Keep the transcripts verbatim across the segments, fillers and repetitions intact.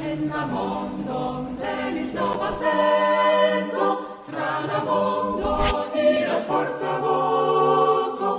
En la mondon venis nova sento, tra la mondo iras forta voko.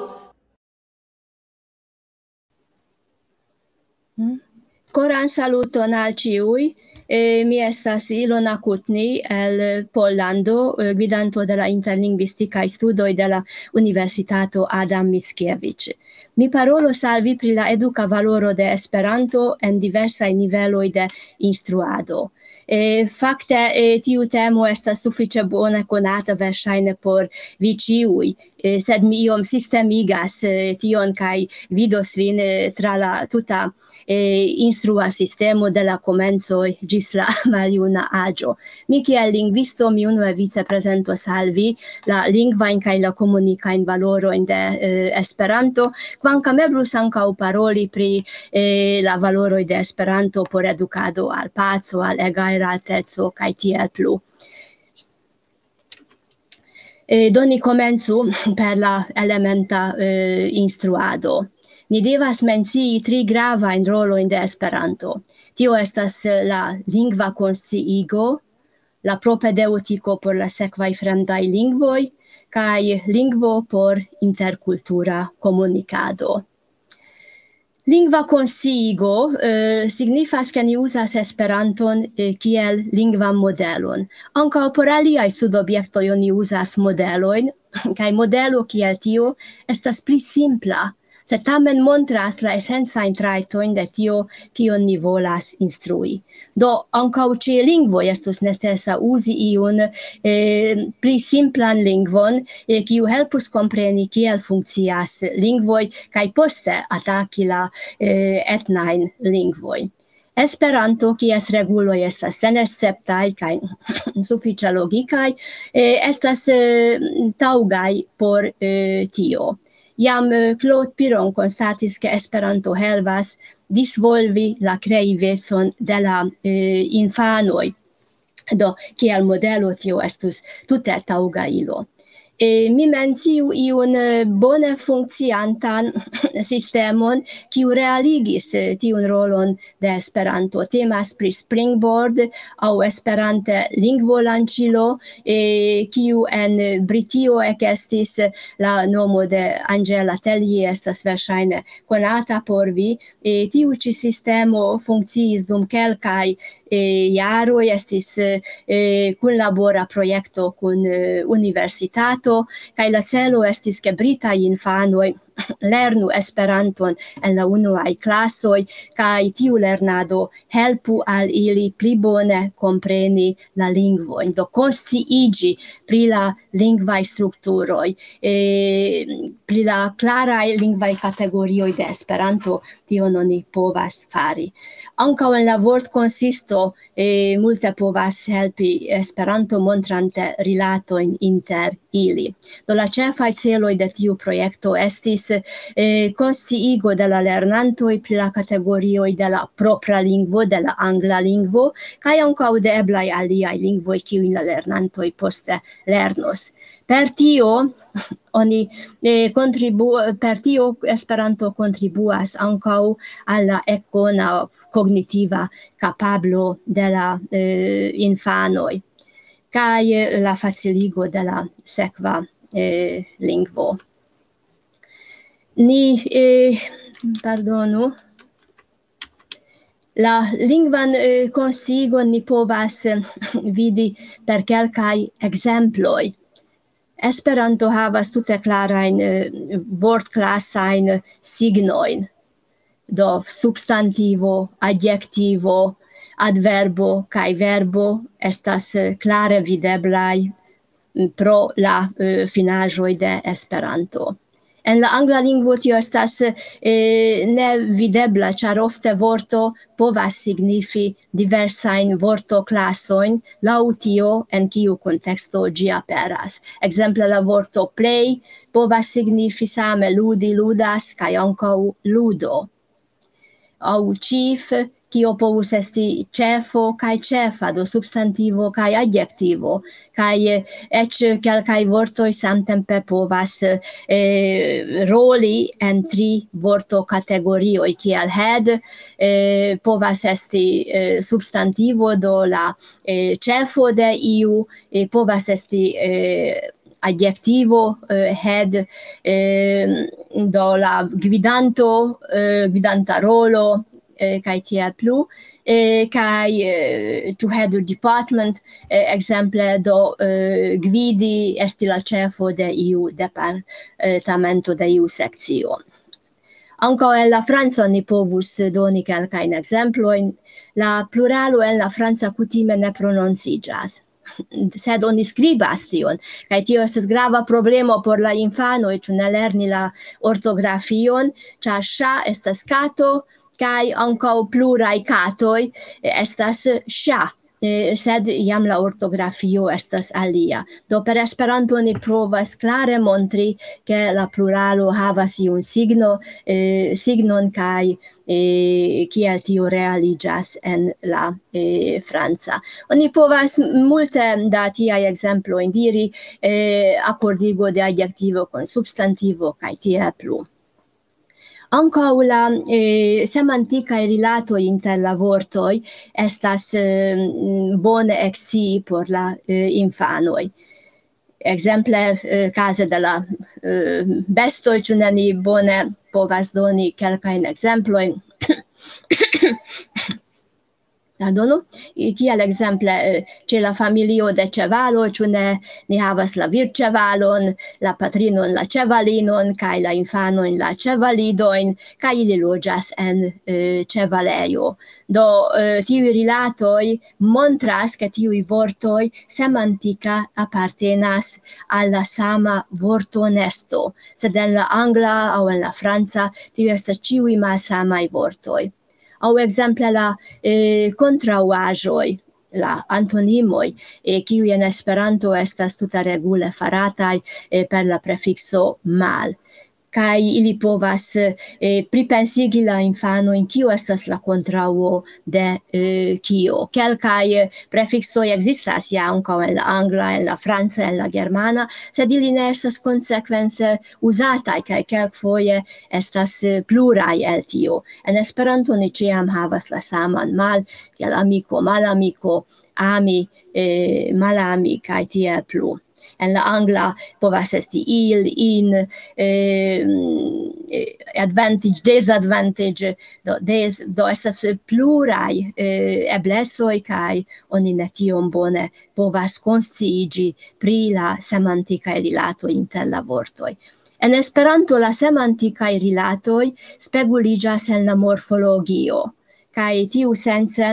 Koran saluton al ĉiuj. Eh, mi estas Ilona Kutni el Pollando, eh, gvidanto de la interlingvistikaj studoj de la Universitato Adam Mickiewicz. Mi parolos al vi pri la eduka valoro de Esperanto en diversaj niveloj de instruado. Eh, fakte, eh, tiu temo estas sufiĉe bone konata verŝajne por vi ĉiuj, eh, sed mi iom sistemigas, eh, tion kaj gvidos vin, eh, tra la tuta, eh, instrua sistemo de la komencoj ĝis la maljuna aĝo. Mi kiel lingvisto, mi unue vice prezentos al vi la lingvajn kaj la komunikajn valorojn de, eh, Esperanto, kvankam eblus ankaŭ paroli pri, eh, la valoroj de Esperanto por edukado al paco, al egalrateco kaj tiel plu. Eh, do ni komencu per la elementa, eh, instruado. Ni devas mencii tri gravajn rolojn de Esperanto. Tio estas, eh, la lingva konsciigo, la propedeŭtiko por la sekvaj fremdaj lingvoj, kaj lingvo por interkultura komunikado. Lingva konsciigo, eh, signifas, ke ni uzas Esperanton, eh, kiel lingvan modelon. Ankaŭ por aliaj studobjektoj oni uzas modelojn, kaj modelo kiel tio estas pli simpla, sed tamen montras la esencajn trajtojn de tio, kion ni volas instrui. Do, ankaŭ ĉe lingvoj estus necesa uzi iun, eh, pli simplan lingvon, eh, kiu helpus kompreni, kiel funkcias lingvoj, kaj poste ataki la, eh, etnajn lingvojn. Esperanto, kies reguloj estas senesceptaj kaj sufiĉe logikaj, eh, estas, eh, taŭgaj por, eh, tio. Jam, eh, Claude Piron konstatis, ke Esperanto helpas disvolvi la kreivecon de la, eh, infanoj. Do, kiel modelo tio estus tute taŭga ilo. Eh, mi menciu iun, eh, bone funkciantan sistemon, kiu realigis, eh, tiun rolon de Esperanto. Temas pri Springboard aŭ esperante lingvolanĉilo, eh, kiu en Britio ekestis, la nomo de Angela Tellier estas verŝajne konata por vi. Eh, tiu ĉi sistemo funkciis dum kelkaj, eh, jaroj, estis, eh, kunlabora projekto kun, eh, universitato, kaj la celo estis, ke britaj infanoj lernu Esperanton en la unuaj klasoj, kaj tiu lernado helpu al ili pli bone kompreni la lingvojn, do konsciiĝi pri la lingvaj strukturoj, eh, pri la klaraj lingvaj kategorioj de Esperanto, tion oni povas fari. Ankaŭ en la vortkonsisto, eh, multe povas helpi Esperanto montrante rilatojn inter ili. Do la ĉefaj celoj de tiu projekto estis, eh, konsciigo de la lernantoj pri la kategorioj de la propra lingvo, de la angla lingvo, kaj ankaŭ de eblaj aliaj lingvoj, kiujn la lernantoj poste lernos. Per tio oni, eh, kontribu-, per tio Esperanto kontribuas ankaŭ al la ekkona kognitiva kapablo de la, eh, infanoj kaj la faciligo de la sekva, eh, lingvo. Ni, eh, pardonu, la lingvan, eh, konsciigon ni povas, eh, vidi per kelkaj ekzemploj. Esperanto havas tute klarajn, eh, vortklasajn signojn. Do, substantivo, adjektivo, adverbo kaj verbo estas, eh, klare videblaj, mm, pro la, eh, finaĵoj de Esperanto. En la angla lingvo tio estas, eh, nevidebla, ĉar ofte vorto povas signifi diversajn vortoklasojn laŭ tio, en kiu kunteksto ĝi aperas. Ekzemple, la vorto play povas signifi same ludi, ludas, kaj ankaŭ ludo. Aŭ chief kio povus esti ĉefo kaj ĉefa, do substantivo kaj adjektivo, kaj, eh, eĉ kelkaj vortoj samtempe povas, eh, roli en tri vortokategorioj, kiel head, eh, povas esti, eh, substantivo, do la, eh, ĉefo de iu, eh, povas esti, eh, adjektivo, eh, head, eh, do la gvidanto, eh, gvidanta rolo, eh, kaj tiel plu, eh, kaj, eh, to head a department, eh, ekzemple, do, eh, gvidi, esti la ĉefo de iu departamento, de iu sekcio. Ankaŭ en la franca ni povus doni kelkajn ekzemplojn. La pluralo en la franca kutime ne prononciĝas, sed oni skribas tion. Kaj tio estas grava problemo por la infanoj, ĉu ne lerni la ortografion, ĉar ŝa estas kato, kaj ankaŭ pluraj katoj estas ŝa. Eh, sed jam la ortografio estas alia. Do per Esperanto ni provas klare montri, ke la pluralo havas iun signo, eh, signon, kaj, eh, kiel tio realiĝas en la, eh, franca. Oni povas multe da tiaj ekzemplojn diri, eh, akordigo de adjektivo kun substantivo kaj tiel plu. Ankaŭ la, eh, semantikaj rilatoj inter la vortoj estas, eh, bone ekscii por la, eh, infanoj. Ekzemple, eh, kaze de la, eh, bestoj, ĉu ne, ni bone povas doni kelkajn ekzemplojn. Pardonu, kiel ekzemple, eh, ĉe la familio de ĉevalo, ĉu ne, ni havas la virĉevalon, la patrinon, la ĉevalinon, kaj la infanojn, la ĉevalidojn, kaj ili loĝas en, eh, ĉevalejo. Do, eh, tiuj rilatoj montras, ke tiuj vortoj semantika apartenas al la sama vortonesto, sed en la angla aŭ en la franca, tiuj estas ĉiuj malsamaj vortoj. Aŭ ekzemple la, eh, kontraŭaĵoj, la antonimoj, eh, kiuj en Esperanto estas tuta regule farataj, eh, per la prefikso mal. Kaj ili povas, eh, pripensigi la infanojn, kio estas la kontraŭo de, eh, kio. Kelkaj, eh, prefiksoj ekzistas ja ankaŭ en la angla, en la franca, en la germana, sed ili ne estas konsekvence uzataj, kaj kelkfoje estas, eh, pluraj el tio. En Esperanto ni ĉiam havas la saman mal, kiel amiko, malamiko, ami, eh, malami, kaj tiel plu. En la angla povas esti il, in, eh, eh, advantage, disadvantage, do, des, do estas pluraj, eh, eblecoj, kaj oni ne tiom bone povas konsciiĝi pri la semantikaj rilatoj inter la vortoj. En Esperanto la semantikaj rilatoj speguliĝas en la morfologio, kaj tiusence,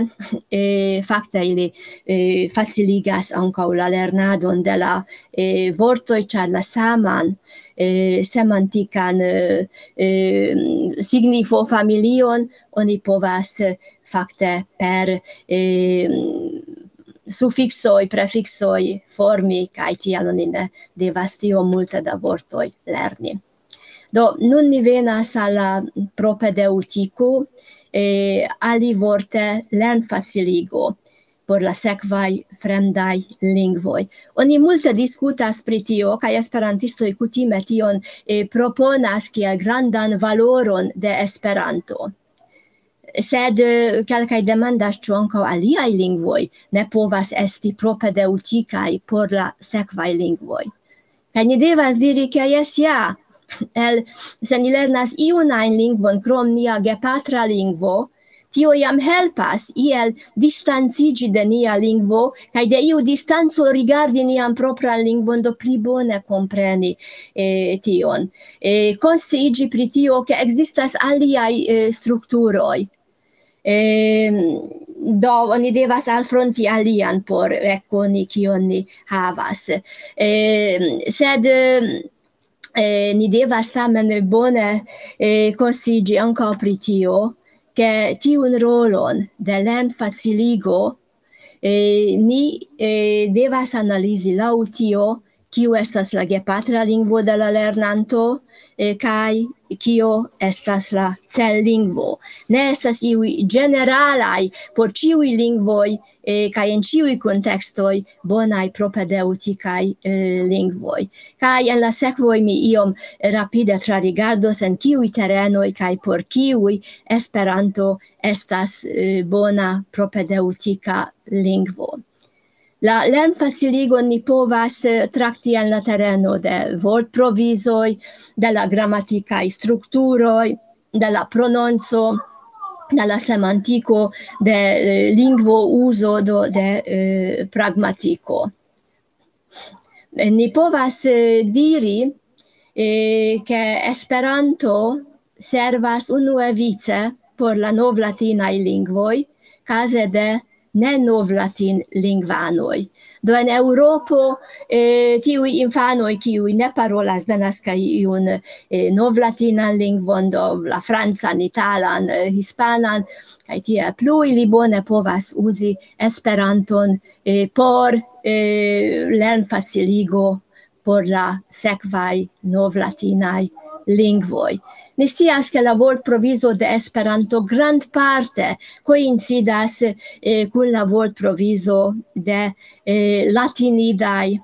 eh, fakte ili, eh, faciligas ankaŭ la lernadon de la, eh, vortoj, ĉar la saman, eh, semantikan, eh, eh, signifofamilion oni povas, eh, fakte per, eh, sufiksoj, prefiksoj formi, kaj tial oni ne devas tiom multe da vortoj lerni. Do, nun ni venas al la propedeŭtiko, eh, alivorte lernfaciligo por la sekvaj fremdaj lingvoj. Oni multe diskutas pri tio, kaj esperantistoj kutime tion, eh, proponas kiel grandan valoron de Esperanto. Sed, eh, kelkaj demandas, ĉu ankaŭ aliaj lingvoj ne povas esti propedeŭtikaj por la sekvaj lingvoj. Kaj ni devas diri, ke jes, ja, el, se ni lernas iun ajn lingvon krom nia gepatra lingvo, tio jam helpas iel distanciĝi de nia lingvo, kaj de iu distanco rigardi nian propran lingvon, do pli bone kompreni, eh, tion. Eh, konsciiĝi pri tio, ke ekzistas aliaj, eh, strukturoj. Eh, do, oni devas alfronti alian por ekkoni, kion ni havas. Eh, sed, eh, ni devas tamen bone, eh, konsciiĝi ankaŭ pri tio, ke tiun rolon de lernfaciligo, eh, ni, eh, devas analizi laŭ tio, kiu estas la gepatra lingvo de la lernanto, eh, kaj kio estas la cellingvo. Ne estas iuj ĝeneralaj por ĉiuj lingvoj, eh, kaj en ĉiuj kontekstoj bonaj propedeŭtikaj, eh, lingvoj. Kaj en la sekvoj mi iom rapide trarigardos, en kiuj terenoj kaj por kiuj Esperanto estas, eh, bona propedeŭtika lingvo. La lernfaciligon ni povas, eh, trakti en la tereno de vortprovizoj, de la gramatikaj strukturoj, de la prononco, de la semantiko, de, eh, lingvo uzo, do de, eh, pragmatiko. Ni povas, eh, diri, eh, ke Esperanto servas unuevice por la novlatinaj lingvoj, kaze de ne novlatin lingvanoj. Do en Eŭropo, eh, tiuj infanoj, kiuj ne parolas denaske iun, eh, novlatinan lingvon, do la francan, italan, eh, hispanan, kaj tiel plu, ili bone povas uzi Esperanton, eh, por, eh, lernfaciligo por la sekvaj novlatinaj lingvoj. Ni scias, ke la vortprovizo de Esperanto grandparte koincidas, eh, kun la vortprovizo de, eh, latinidaj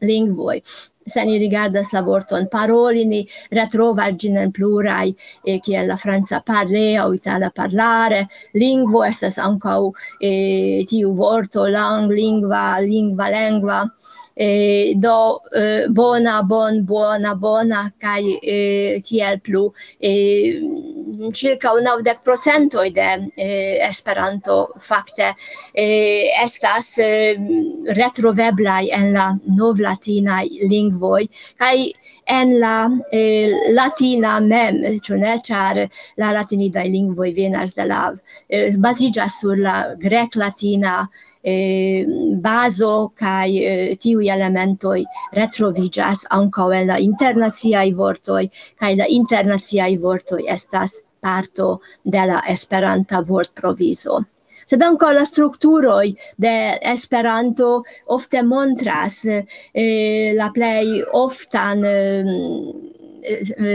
lingvoj. Se ni rigardas la vorton paroli, ni retrovas ĝin en pluraj, eh, kiel la franca parler aŭ itala parlare. Lingvo estas ankaŭ, eh, tiu vorto, lang, lingva, lingva, lengva. Eh, do, eh, bona, bon, bona, bona, kaj, eh, tiel plu. Eh, ĉirkaŭ naŭdek procentoj de, eh, Esperanto fakte, eh, estas, eh, retroveblaj en la novlatinaj lingvoj, kaj en la, eh, latina mem, ĉu ne? Ĉar la latinidaj lingvoj venas de la, eh, baziĝas sur la greklatina, eh, bazo, kaj, eh, tiuj elementoj retroviĝas ankaŭ en la internaciaj vortoj, kaj la internaciaj vortoj estas parto de la Esperanta vortprovizo. Sed ankaŭ la strukturoj de Esperanto ofte montras, eh, la plej oftan, eh,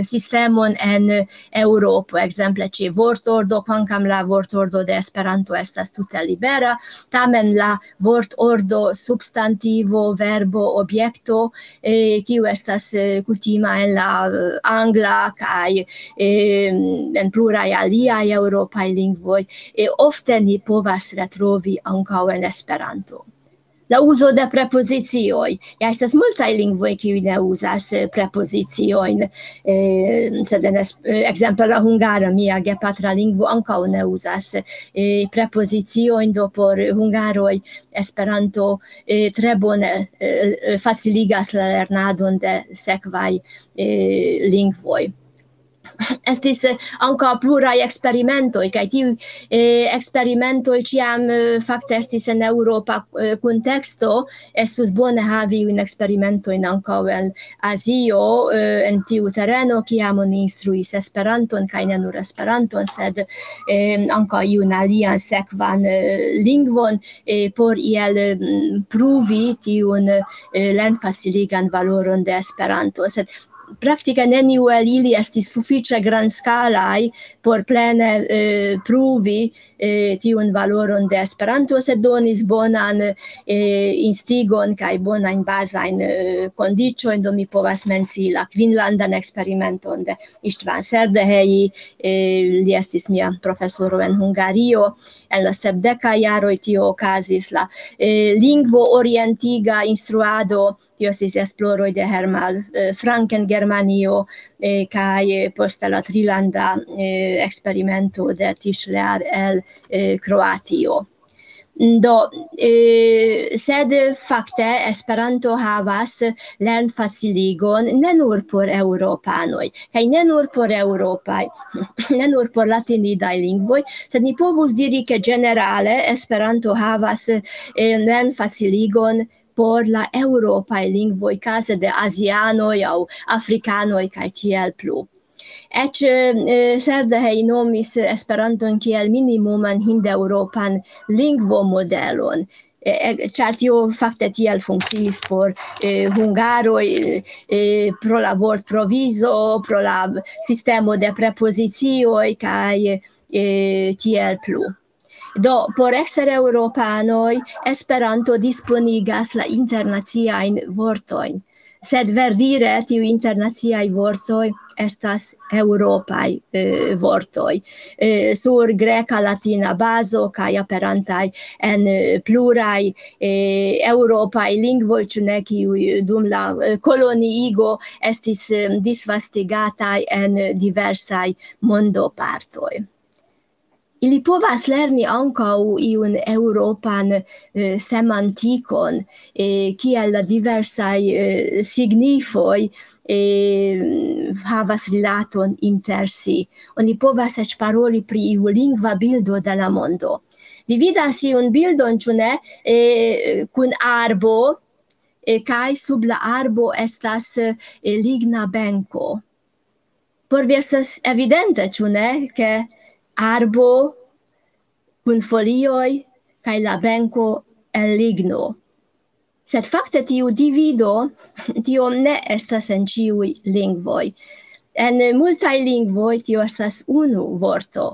sistemon en Eŭropo, ekzemple ĉe vortordo, kvankam la vortordo de Esperanto estas tute libera, tamen la vortordo substantivo, verbo, objekto, eh, kiu estas, eh, kutima en la, eh, angla kaj, eh, en pluraj aliaj eŭropaj lingvoj, eh, ofte ni povas retrovi ankaŭ en Esperanto. La uzo de prepozicioj. Ja, estas multaj lingvoj, kiuj ne uzas, eh, prepoziciojn, eh, sed en es-, eh, ekzemple la hungara, mia gepatra lingvo, ankaŭ ne uzas, eh, prepoziciojn, do por hungaroj Esperanto, eh, tre bone, eh, faciligas la lernadon de sekvaj, eh, lingvoj. Estis, eh, ankaŭ pluraj eksperimentoj, kaj tiuj, eh, eksperimentoj ĉiam, eh, fakte estis en eŭropa, eh, kunteksto. Estus bone havi iujn eksperimentojn ankaŭ en Azio, eh, en tiu tereno, kiam oni instruis Esperanton, kaj ne nur Esperanton, sed, eh, ankaŭ iun alian sekvan, eh, lingvon, eh, por iel, mm, pruvi tiun, eh, lernfaciligan valoron de Esperanto. Sed praktike neniu el ili estis sufiĉe grandskalaj por plene, eh, pruvi, eh, tiun valoron de Esperanto, sed donis bonan, eh, instigon kaj bonajn bazajn, eh, kondiĉojn. Do mi povas mencii la kvinlandan eksperimenton de István Szerdehely, eh, li estis mia profesoro en Hungario. En la sepdekaj jaroj tio okazis, la, eh, lingvo-orientiga instruado, tio estis esploroj de Hermann, eh, Frank en Germanio, eh, kaj, eh, poste la trilanda, eh, eksperimento de Tischler el, eh, Kroatio. Do, eh, sed fakte Esperanto havas lernfaciligon ne nur por eŭropanoj, kaj ne nur por eŭropaj, ne nur por latinidaj lingvoj, sed ni povus diri, ke ĝenerale Esperanto havas, eh, lernfaciligon por la eŭropaj lingvoj, kaze de azianoj aŭ afrikanoj kaj tiel plu. Eĉ, eh, Szerdehely nomis Esperanton kiel minimuman hindeŭropan lingvomodelon. Eh, eh, Ĉar tio fakte tiel funkciis por eh, hungaroj, eh, pro la vortprovizo, pro la sistemo de prepozicioj kaj eh, tiel plu. Do, por ekstereŭropanoj Esperanto disponigas la internaciajn vortojn. Sed verdire tiuj internaciaj vortoj estas eŭropaj eh, vortoj eh, sur greka latina bazo kaj aperantaj en eh, pluraj eh, eŭropaj lingvoj, ĉu ne, kiuj dum la eh, koloniigo estis eh, disvastigataj en diversaj mondopartoj. Ili povas lerni ankaŭ iun eŭropan eh, semantikon, eh, kiel la diversaj eh, signifoj eh, havas rilaton inter si. Oni povas eĉ paroli pri iu lingva bildo de la mondo. Vi vidas iun bildon, ĉu ne, eh, kun arbo, eh, kaj sub la arbo estas eh, ligna benko. Por vi estas evidente, ĉu ne, ke arbo kun folioj kaj la benko el ligno. Sed fakte tiu divido, tio ne estas en ĉiuj lingvoj. En multaj lingvoj tio estas unu vorto,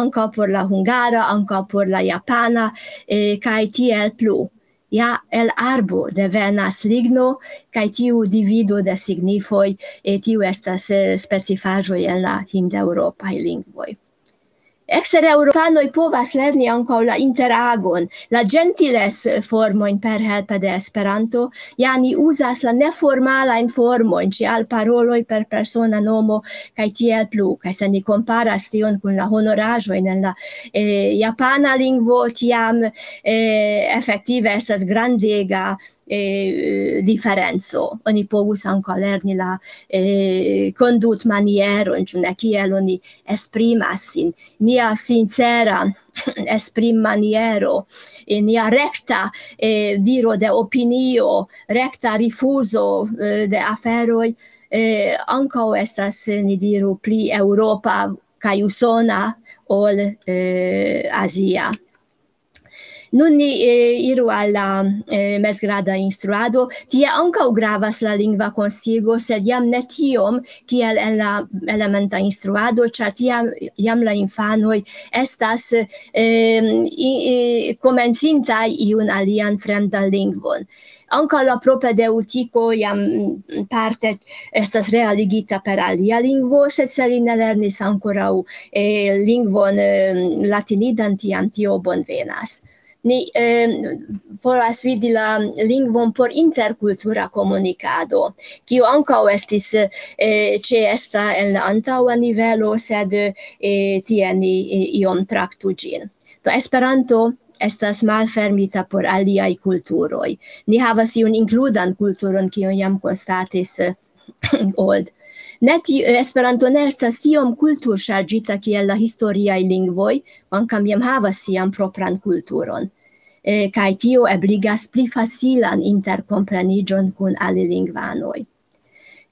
ankaŭ por la hungara, ankaŭ por la japana, eh, kaj tiel plu. Ja el arbo devenas ligno, kaj tiu divido de signifoj, eh, tiu estas eh, specifaĵoj en la hindeŭropaj lingvoj. Ekstereŭropanoj povas lerni ankaŭ la interagon, la ĝentiles formojn per helpe de Esperanto. Ja ni uzas la neformalajn formojn, ĉe alparoloj per persona nomo, kaj tiel plu. Kaj se ni komparas tion kun la honoraĵojn en la eh, japana lingvo, tiam eh, efektive estas grandega eh, diferenco. Oni povus ankaŭ lerni la eh, kondutmanieron, ĉu ne, kiel oni esprimas sin. Nia sincera esprimmaniero, eh, nia rekta eh, diro de opinio, rekta rifuzo eh, de aferoj, eh, ankaŭ estas, eh, ni diru, pli eŭropa kaj usona ol eh, azia. Nun ni eh, iru al la eh, mezgrada instruado. Tie ankaŭ gravas la lingva konsciigo, sed jam ne tiom kiel en la elementa instruado, ĉar tiam jam la infanoj estas eh, i, i, komencintaj iun alian fremdan lingvon. Ankaŭ la propedeŭtiko jam mm, parte estas realigita per alia lingvo, sed se li ne lernis ankoraŭ eh, lingvon eh, latinidan, tiam tio bonvenas. Ni eh, volas vidi la lingvon por interkultura komunikado, kiu ankaŭ estis eh, ĉeesta en la antaŭa nivelo, sed eh, tie ni eh, iom traktu ĝin. Do Esperanto estas malfermita por aliaj kulturoj. Ni havas iun inkludan kulturon, kion jam konstatis eh, Old. Ne ti, Esperanto ne estas tiom kulturŝarĝita kiel la historiaj lingvoj, kvankam jam havas sian propran kulturon. Eh, kaj tio ebligas pli facilan interkompreniĝon kun alilingvanoj.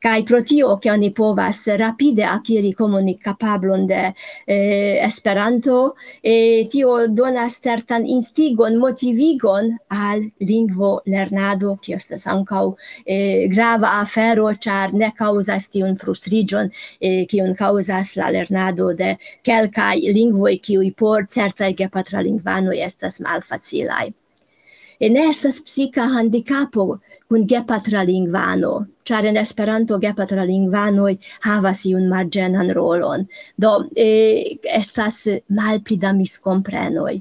Kaj pro tio, ke oni povas rapide akiri komunikkapablon de eh, Esperanto, eh, tio donas certan instigon, motivigon al lingvo lernado, kio estas ankaŭ eh, grava afero, ĉar ne kaŭzas tiun frustriĝon, eh, kiun kaŭzas la lernado de kelkaj lingvoj, kiuj por certaj gepatralingvanoj estas malfacilaj. E ne estas psika handikapo kun gepatralingvano, ĉar en Esperanto gepatralingvanoj havas iun marĝenan rolon. Do eh, estas malpli da miskomprenoj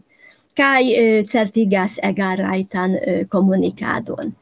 kaj eh, certigas egalrajtan eh, komunikadon.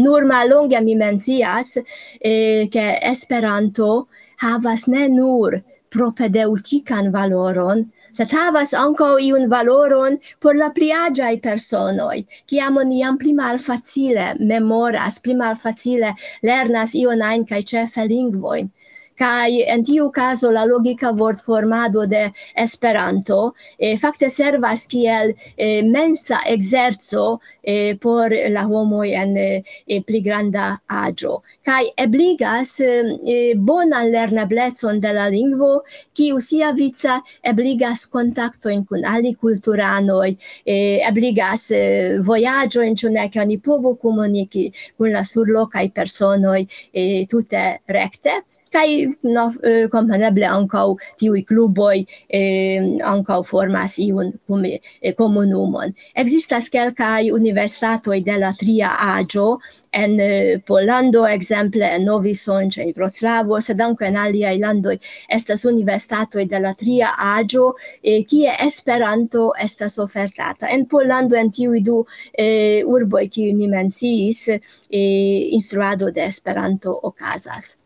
Nur mallonge mi mencias, eh, ke Esperanto havas ne nur propedeŭtikan valoron, sed havas ankaŭ iun valoron por la pli aĝaj personoj. Kiam oni jam pli malfacile memoras, pli malfacile lernas ion ajn kaj ĉefe lingvojn, Kaj en tiu kazo la logika vortformado de Esperanto, eh, fakte servas kiel, eh, mensa ekzerco, eh, por la homoj en, eh, pli granda aĝo. Kaj ebligas, eh, bonan lerneblecon de la lingvo, kiu siavice ebligas kontaktojn kun alikulturanoj, eh, ebligas, eh, vojaĝojn, ĉu ne, ke oni povu komuniki kun la surlokaj personoj, eh, tute rekte. Kaj, no, eh, kompreneble ankaŭ tiuj kluboj, eh, ankaŭ formas iun kumi-, eh, komunumon. Ekzistas kelkaj universitatoj de la tria aĝo, en, eh, Pollando, ekzemple en Novi Sącz, en Wroclavo, sed ankaŭ en aliaj landoj estas universitatoj de la tria aĝo, eh, kie Esperanto estas ofertata. En Pollando, en tiuj du, eh, urboj, kiuj mi menciis, eh, instruado de Esperanto okazas.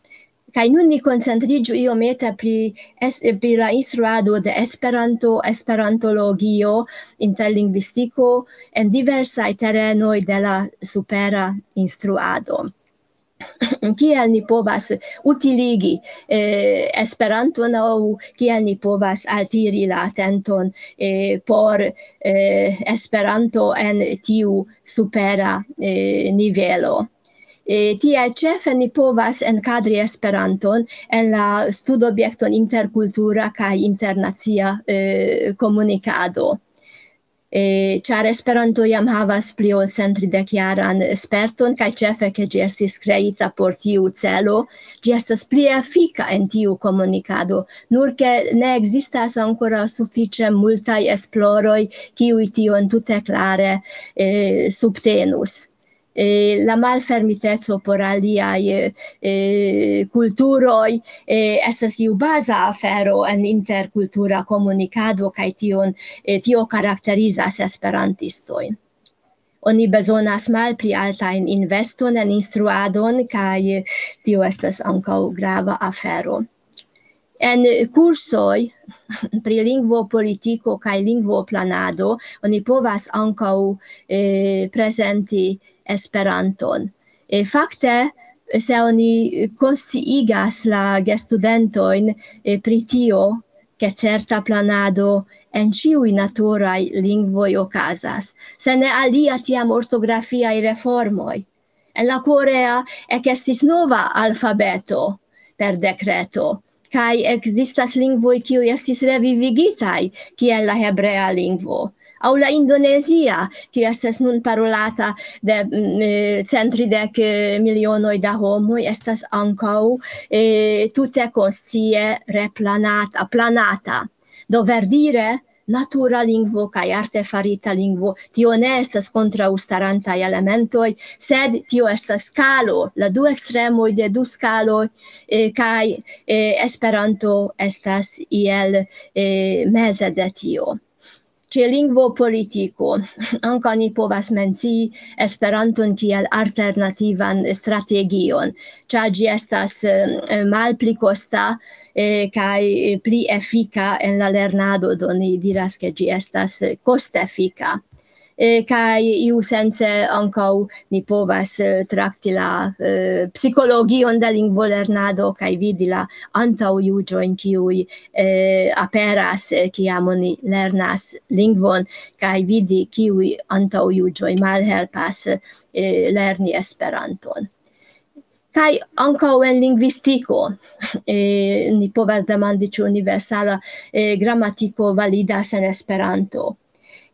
Kaj nun ni koncentriĝu iomete pri es-, pri la instruado de Esperanto, esperantologio, interlingvistiko en diversaj terenoj de la supera instruado. Kiel ni povas utiligi, eh, Esperanton, aŭ kiel ni povas altiri la atenton, eh, por, eh, Esperanto en tiu supera, eh, nivelo. Eh, tie ĉefe ni povas enkadri Esperanton en la studobjekton interkultura kaj internacia, eh, komunikado. Eh, ĉar Esperanto jam havas pli ol centtridekijaran sperton, kaj ĉefe, ke ĝi estis kreita por tiu celo, ĝi estas pli efika en tiu komunikado, nur ke ne ekzistas ankoraŭ sufiĉe multaj esploroj, kiuj tion tute klare, eh, subtenus. Eh, la malfermiteco por aliaj, eh, kulturoj, eh, estas iu baza afero en interkultura komunikado, kaj tion, eh, tio karakterizas esperantistojn. Oni bezonas malpli altajn investon en instruadon, kaj tio estas ankaŭ grava afero. En kursoj pri lingvopolitiko kaj lingvoplanado oni povas ankaŭ, eh, prezenti Esperanton. Eh, fakte, se oni konsciigas la gestudentojn, eh, pri tio, ke certa planado en ĉiuj naturaj lingvoj okazas, se ne alia, tiam ortografiaj reformoj. En la korea ekestis nova alfabeto per dekreto, kaj ekzistas lingvoj, kiuj estis revivigitaj, kiel la hebrea lingvo, aŭ la indonezia, kiu estas nun parolata de, mm, eh, cent tridek milionoj da homoj, estas ankaŭ, eh, tute konscie replanata, planata. Do verdire, natura lingvo kaj artefarita lingvo, tio ne estas kontraŭstarantaj elementoj, sed tio estas skalo, la du ekstremoj de du skaloj, eh, kaj, eh, Esperanto estas iel, eh, meze de tio. Ĉe lingvopolitiko ankaŭ ni povas mencii Esperanton kiel alternativan strategion, ĉar ĝi estas, eh, malpli kosta, eh, kaj pli efika en la lernado, do ni diras, ke ĝi estas kostefika. Eh, kaj iusence ankaŭ ni povas, eh, trakti la, eh, psikologion de lingvolernado kaj vidi la antaŭjuĝojn, kiuj, eh, aperas, eh, kiam oni lernas lingvon, kaj vidi, kiuj antaŭjuĝoj malhelpas, eh, lerni Esperanton. Kaj ankaŭ en lingvistiko, eh, ni povas demandi, ĉu universala, eh, gramatiko validas en Esperanto.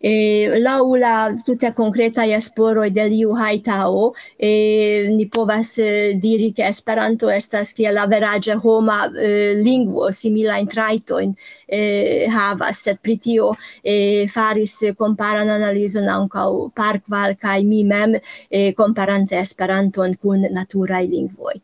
Eh, laŭ la tute konkretaj esploroj de Liu Haitao, eh, ni povas, eh, diri, ke Esperanto estas kiel averaĝe homa, eh, lingvo, similajn trajtojn, eh, havas, sed pri tio, eh, faris komparan analizon ankaŭ Parkval kaj mi mem, eh, komparante Esperanton kun naturaj lingvoj.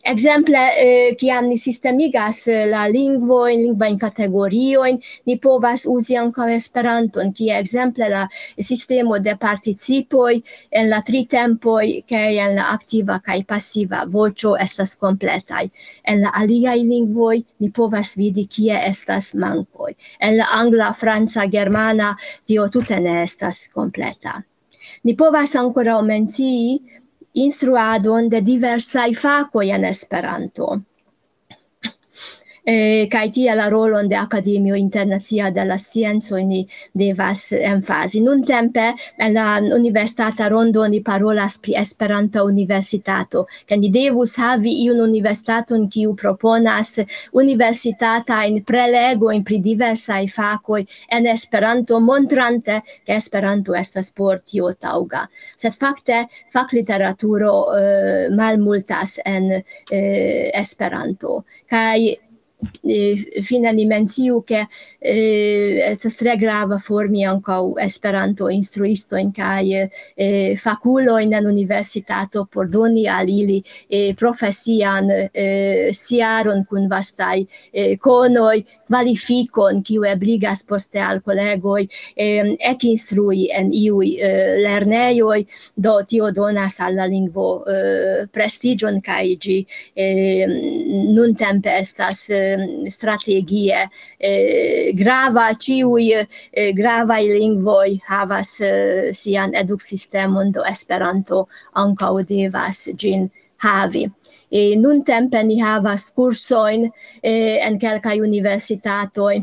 Ekzemple, eh, kiam ni sistemigas, eh, la lingvojn, lingvajn kategoriojn, ni povas uzi ankaŭ Esperanton, kie ekzemple la sistemo de participoj en la tri tempoj, kaj en la aktiva kaj pasiva voĉo estas kompletaj. En la aliaj lingvoj ni povas vidi, kie estas mankoj. En la angla, franca, germana, tio tute ne estas kompleta. Ni povas ankoraŭ mencii instruadon de diversaj fakoj en Esperanto. Eh, kaj tie la rolon de Akademio Internacia de la Sciencoj ni devas emfazi. Nuntempe en la universitata rondo ni parolas pri Esperanta Universitato, ke ni devus havi iun universitaton, kiu proponas universitatajn prelegojn pri diversaj fakoj en Esperanto, montrante, ke Esperanto estas por tio taŭga. Sed fakte fakliteraturo, eh, malmultas en, eh, Esperanto. Kaj, eh, fine ni menciu, ke, eh, estas tre grava formi ankaŭ Esperanto-instruistojn kaj, eh, fakulojn en universitato por doni al ili, eh, profesian, eh, sciaron kun vastaj, eh, konoj, kvalifikon, kiu ebligas poste al kolegoj, eh, ekinstrui en iuj, eh, lernejoj, do tio donas al la lingvo, eh, prestiĝon, kaj ĝi, eh, nuntempe estas, eh, strategie, eh, grava. Ĉiuj, eh, gravaj lingvoj havas, eh, sian eduksistemon, do Esperanto ankaŭ devas ĝin havi. E nuntempe ni havas kursojn, eh, en kelkaj universitatoj.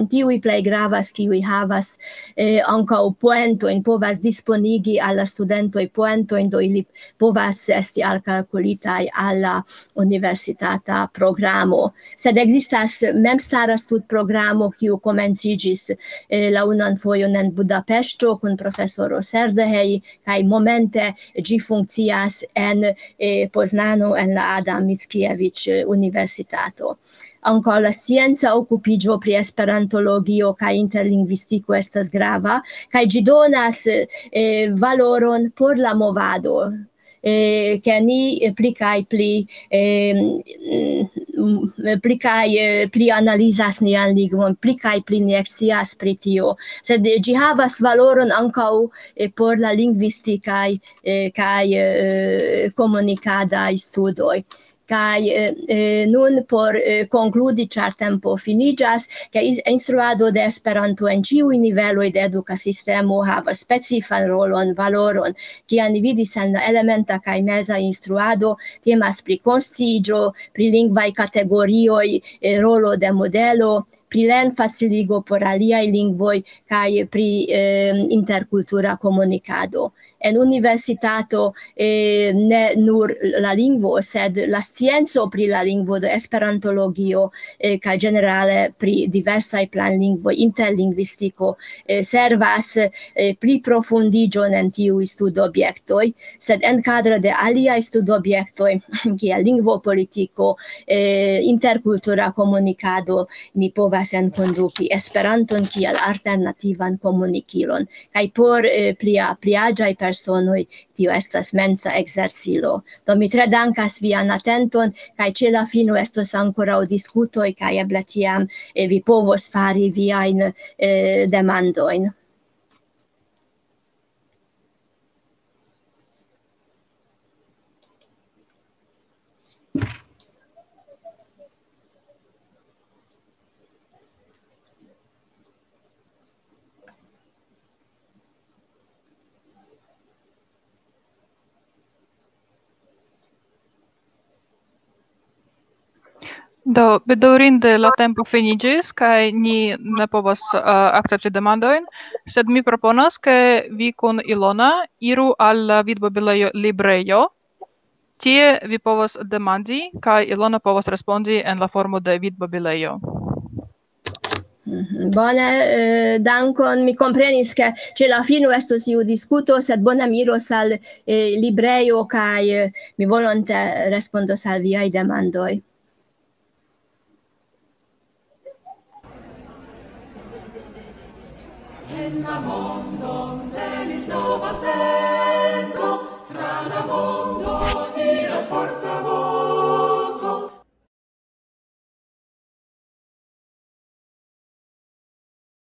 Tiuj plej gravas, kiuj havas, eh, ankaŭ poentojn, povas disponigi al la studentoj poentojn, do ili povas esti alkalkulitaj al la universitata programo. Sed ekzistas memstara studprogramo, kiu komenciĝis, eh, la unuan fojon en Budapeŝto kun profesoro Serdehej, kaj momente ĝi funkcias en, eh, Poznano, en la Adam Mickiewicz, eh, Universitato. Ankaŭ la scienca okupiĝo pri esperantologio kaj interlingvistiko estas grava, kaj ĝi donas, eh, valoron por la movado, eh, ke ni pli kaj pli, eh, mm, pli kaj, eh, pli analizas nian lingvon, pli kaj pli ni ekscias pri tio. Sed ĝi havas valoron ankaŭ, eh, por la lingvistikaj, eh, kaj, eh, komunikadaj studoj. Kaj, eh, eh, nun por, eh, konkludi, ĉar tempo finiĝas, ke is-, instruado de Esperanto en ĉiuj niveloj de eduka sistemo havas specifan rolon, valoron, kian ni vidis en la elementa kaj meza instruado, temas pri konsciiĝo, pri lingvaj kategorioj, eh, rolo de modelo, pri lernfaciligo por aliaj lingvoj kaj pri, eh, interkultura komunikado. En universitato, eh, ne nur la lingvo, sed la scienco pri la lingvo, de esperantologio, eh, kaj ĝenerale pri diversaj planlingvoj, interlingvistiko, eh, servas, eh, pli profundiĝon en tiuj studobjektoj, sed en kadro de aliaj studobjektoj, kiel lingvopolitiko, eh, interkultura komunikado, mi povas enkonduki Esperanton kiel alternativan komunikilon. Kaj por, eh, plia, pli aĝaj personoj tio estas mensa ekzercilo. Do mi tre dankas vian atenton, kaj ĉe la fino estos ankoraŭ diskutoj, kaj eble tiam, eh, vi povos fari viajn, eh, demandojn. Do, bedaŭrinde la tempo finiĝis, kaj ni ne povas, eh, akcepti demandojn, sed mi proponas, ke vi kun Ilona iru al la Vidmobilejo librejo. Tie vi povas demandi, kaj Ilona povas respondi en la formo de Vidmobilejo. Mhm. Bone, eh, dankon. Mi komprenis, ke ĉe la fino estos iu diskuto, sed bone mi iros al, eh, librejo, kaj, eh, mi volonte respondos al viaj demandoj. En la mondo venis nova